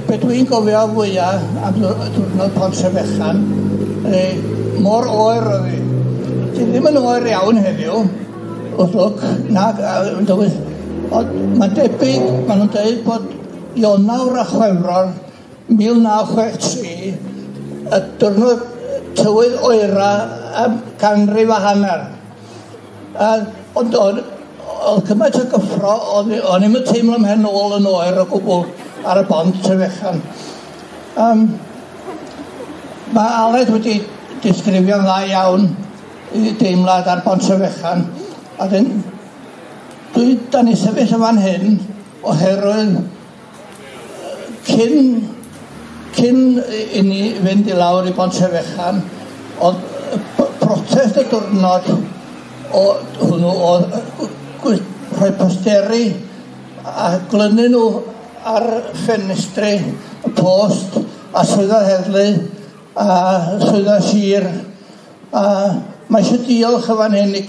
Be dwi'n gofio fwyaf am diwrnod Pont Trefechan, mor oer oedd hi. Di ddim yn oer iawn heddiw, wrth lwc, nag, dywydd. Ond mae'n debyg, maen nhw'n dweud bod Ionawr a Chwefror 1963, y diwrnod tywydd oera am ganrif a hanner. Ond oedd cymaint o gyffro, o'n i'm yn teimlo mhen ôl yn oer o gwbl ar y bont Trefechan. Mae Aled wedi disgrifio'n dda iawn i deimlad ar bont Trefechan. A dyn, da ni sefyll yn fan hyn oherwydd cyn i ni fynd i lawr i bont Trefechan, oedd protest y diwrnod o hwnnw oedd rhoi posteri a glynu nhw ar ffenestri y post a swyddfa heddlu a swyddfa sir, a mae eisiau diolch yn fan hyn i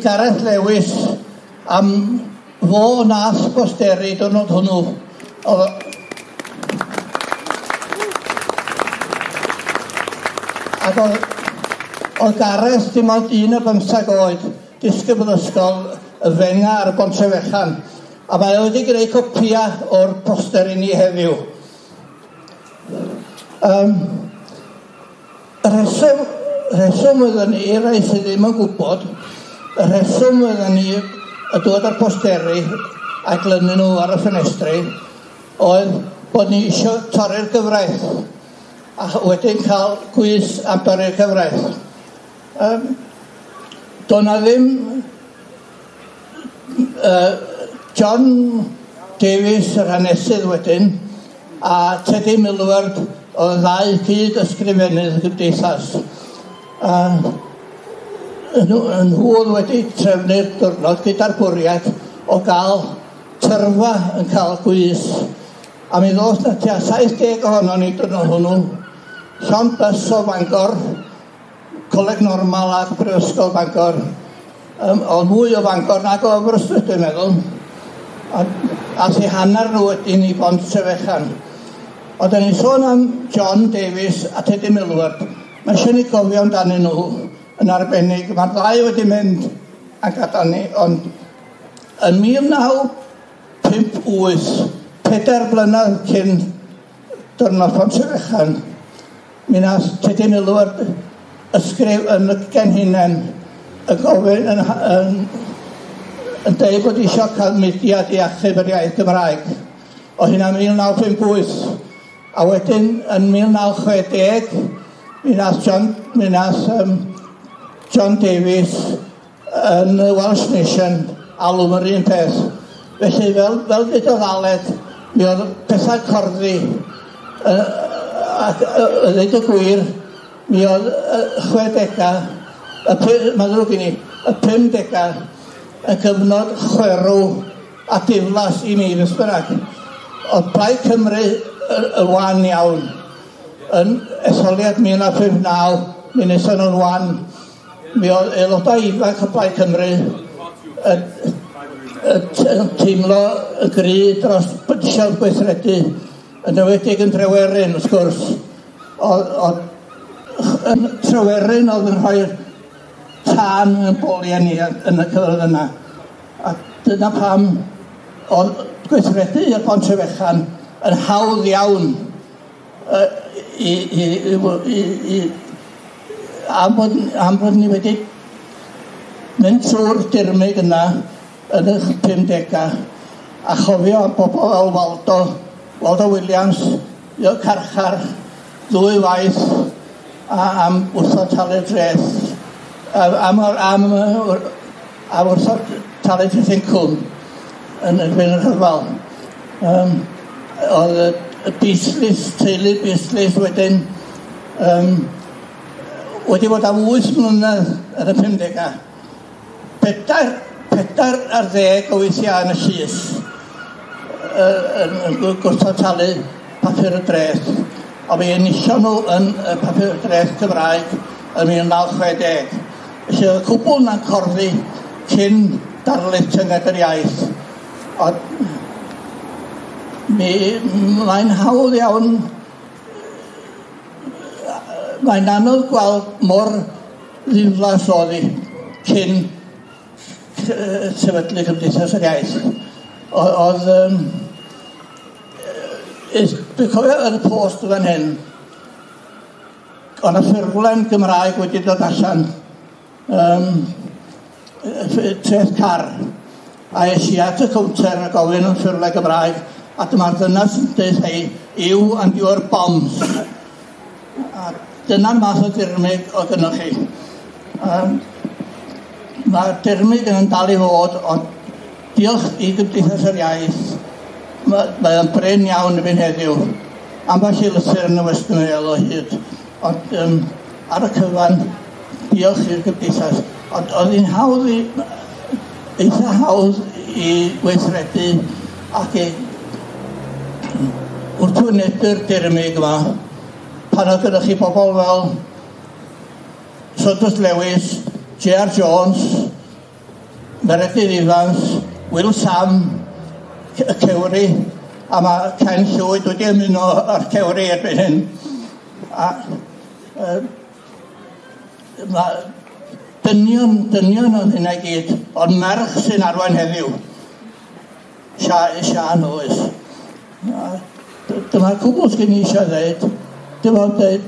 Gareth Lewis am fo nath posteri diwrnod hwnnw. Ac oedd Gareth dim ond 15 oed, disgybl ysgol y Fenga ar y Bont Trefechan, a mae o wedi gwneud copia o'r poster i ni heddiw. Y rheswm oedden ni, rai sydd ddim yn gwybod, y rheswm oedden ni y dod â'r posteri a glynu nhw ar y ffenestri oedd bod ni eisiau torri'r gyfraith a wedyn cael gwys am dorri'r gyfraith. Doedd na ddim John Davies, yr hanesydd wedyn, a Teddy Millward oedd y ddau gyd ysgrifennydd y gymdeithas. Nhw oedd wedi trefnu'r diwrnod gyda'r bwriad o gael tyrfa yn cael gwys. A mi ddoth na tua 70 ohonon ni diwrnod hwnnw. Llond bws o Fangor, Coleg Normal ac Brifysgol Bangor. Oedd mwy o Fangor nag o Aberystwyth, dwi'n meddwl. A si hanner nhw wedyn i Bont Trefechan. Ond da ni'n sôn am John Davies a Teddy Millward. Mae eisiau ni gofio amdanyn nhw yn arbennig. Mae'r ddau wedi mynd a gadael ni, ond yn 1958, 4 blynedd cyn diwrnod Pont Trefechan, mi nath Teddy Millward ysgrif yn y Genhinen y gofyn yn dweud bod eisiau cael mudiad i achub yr iaith Gymraeg. O hynna 1958. A wedyn yn 1960, mi nath John Davies yn y Welsh Nation alw yr un peth. Felly fel ddudodd Aled, mi oedd pethau corddi, ac ddeud y gwir, mi oedd 60au, mae'n ddrwg i ni, y 50au, y cyfnod chwerw a diflas i mi, beth bynnag. Oedd Plaid Cymru y wan iawn. Yn etholiad 1959, mi wnaethon nhw'n wan. Mi oedd aelodau ifanc o Plaid Cymru yn teimlo y gry dros eisiau gweithredu, yn enwedig yn Trewerin, wrth gwrs. Oedd Trewerin oedd yn rhoi'r tân yn boliau ni yn y cyfnod yna. A dyna pam oedd gweithredu i'r Bont Trefechan yn hawdd iawn am bod ni wedi mynd trwy'r dirmyg yna yn y 50au a chofio am bobl fel Waldo Williams, i'r carchar ddwy waith a am wrthod talu'r dreth, am wrthod talu dreth incwm yn erbyn y rhyfel. Oedd y Beasleys, teulu Beasleys wedyn wedi bod am 8 mlynedd yn y 50au. 14 o weithiau yn y llys yn gwrthod talu papur y dreth. A mi enillon nhw yn y papur y dreth Cymraeg yn 1960. Felly oedd y cwbl na'n corddi cyn darlith Tynged yr Iaith. Ond Mi, mae'n hawdd iawn, mae'n anodd gweld mor ddiflas oedd hi cyn sefydlu Cymdeithas yr Iaith. Oedd, dwi'n cofio yn y post fan hyn, oedd 'na ffurflen Gymraeg wedi dod allan, treth car, a es i at y cownter a gofyn am ffurflen Gymraeg, a dyma'r ddynas yn dweud, "Hey, you and your bombs." A dyna'r math o dirmyg oedd gynnoch chi. Mae'r dirmyg yn dal i fod, ond diolch i Gymdeithas yr Iaith, mae o'n brin iawn erbyn heddiw. Ambell i lythyr yn y Western Mail o hyd. Ond ar y cyfan, diolch i'r Gymdeithas. Ond oedd hi'n hawdd i, eitha hawdd i weithredu ac i wrthwynebu'r dirmyg yma pan oedd gyda chi bobl fel Saunders Lewis, J.R. Jones, Meredydd Evans, Wil Sam, y Cewri, a mae Ken Llwyd wedi ymuno â'r Cewri erbyn hyn. A mae dynion oedd hynna i gyd, ond merch sy'n arwain heddiw. Sian Lewis. Dyma'r cwbl sgyn i eisiau dweud. Dim ond dweud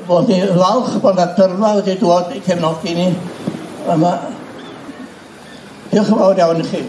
bod ni'n falch bod yna dyrfa wedi dod i cefnogi ni. Yma. Diolch yn fawr iawn i chi.